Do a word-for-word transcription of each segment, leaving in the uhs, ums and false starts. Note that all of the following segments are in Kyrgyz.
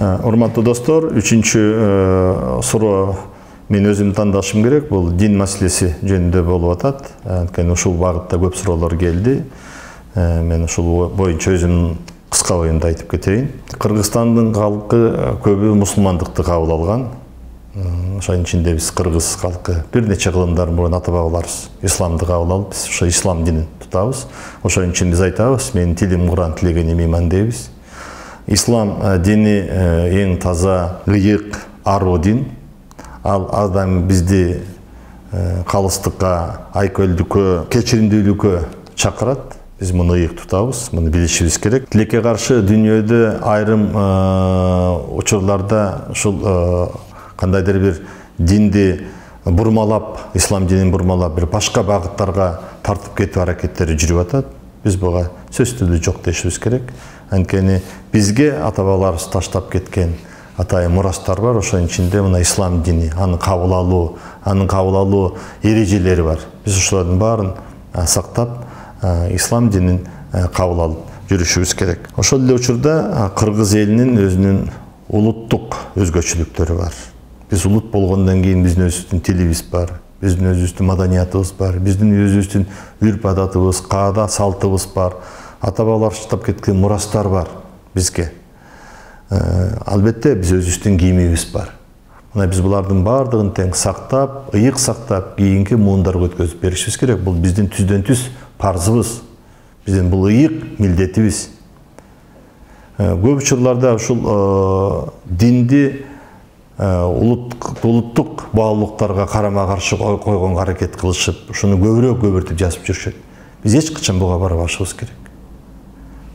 Урматтуу достор, үчүнчү суроо мен өзүм тандашым керек. Бул дин маселеси жөнүндө болуп атат. Анткени ушул багытта көп суроолор келди. Мен ушул боюнча өзүмдүн кыска оюмду айтып кетейин. Кыргызстандын калкы көбү мусулмандыкты кабыл алган. Ошонун ичинде биз кыргыз калкы бир нече кылымдар мурун ата бабаларыбыз исламды кабыл алып, биз ошо ислам динин тутабыз. Ошонун үчүн биз айтабыз, менин тилим Куран, тилегеним иман дейбиз. Ислам дини эң таза, ыйык, аруу дин. Ал адам бизди калыстыкка, айкөлдүккө, кечиримдүүлүккө чакырат. Биз муну ыйык тутабыз, муну билишибиз керек. Тилекке каршы дүйнөдө айрым учурларда ушул кандайдыр бир динди бурмалап, ислам динин бурмалап, бир башка багыттарга тартып кетүү аракеттери жүрүп атат. Биз буга сөзсүз түрдө жок дешибиз керек. Анткени бизге ата бабаларыбыз таштап кеткен атайын мурастар бар. Ошонун ичинде мына ислам дини, аны кабыл алуу, анын кабыл алуу эрежелери бар. Биз ошолордун баарын сактап, ислам динин кабыл алып жүрүшүбүз керек. Ошол эле учурда кыргыз элинин өзүнүн улуттук өзгөчөлүктөрү бар. Биз улут болгондон кийин биздин өзүбүздүн тилибиз бар, биздин өзүбүздүн маданиятыбыз бар, биздин өзүбүздүн үрп адатыбыз, каада салтыбыз бар. Ата бабалар таштап кеткен мурастар бар бизге. Албетте биз өзүбүздүн кийимибиз бар. Мына биз булардын баардыгын тең сактап, ыйык сактап, кийинки муундарга өткөзүп беришибиз керек. Бул биздин түздөн түз парзыбыз. Биздин бул ыйык милдетибиз. Көп учурларда ушул динди улуттук баалуулуктарга карама-каршы койгонго аракет кылышып, ушуну көбүрөөк көбүртүп жазып жүрүшөт. Биз эч качан буга барбашыбыз керек.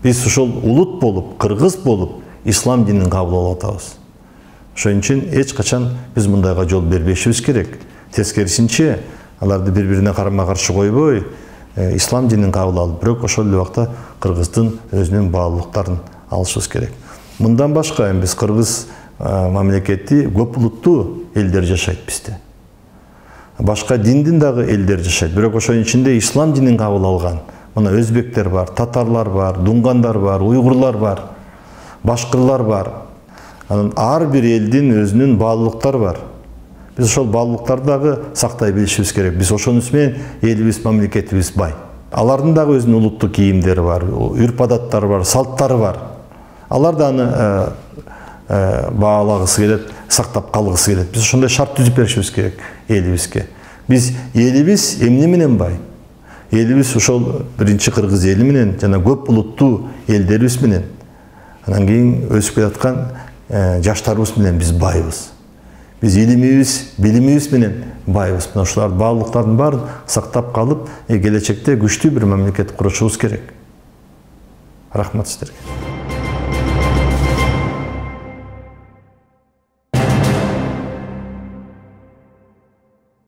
Биз ушул улут болуп, кыргыз болуп, ислам динин кабыл алып атабыз. Ошон үчүн эч качан биз мындайга жол бербешибиз керек. Тескерисинче, аларды бири-бирине карама-каршы койбой, ислам динин кабыл алып, бирок ошол эле убакта кыргыздын өзүнүн баалуулуктарын алышыбыз керек. Мындан башка биз кыргыз мамлекети көп улуттуу элдер жашайт бизде. Башка диндин дагы элдер жашайт, бирок ошонун ичинде ислам динин кабыл алган. Мына өзбектер бар, татарлар бар, дунгандар бар, уйгурлар бар, башкырлар бар. Анан ар бир элдин өзүнүн баалуулуктары бар. Биз ошол баалуулуктарды дагы сактай билишибиз керек. Биз ошонус менен элибиз, мамлекетибиз бай. Алардын дагы өзүнүн улуттук кийимдери бар, үрп адаттары бар, салттары бар. Алар да аны баалагысы келет, сактап калгысы келет. Биз ошондой шарт түзүп беришибиз керек элибизге. Биз элибиз эмне менен бай? Элибиз ошол биринчи кыргыз эли менен жана көп улуттуу элдерибиз менен, анан кийин өсүп келаткан жаштарыбыз менен биз байбыз. Биз илимибиз, билимибиз менен байбыз. Мына ушулар баалуулуктардын баарын сактап калып, келечекте күчтүү бир мамлекет курушубуз керек. Рахмат сиздерге.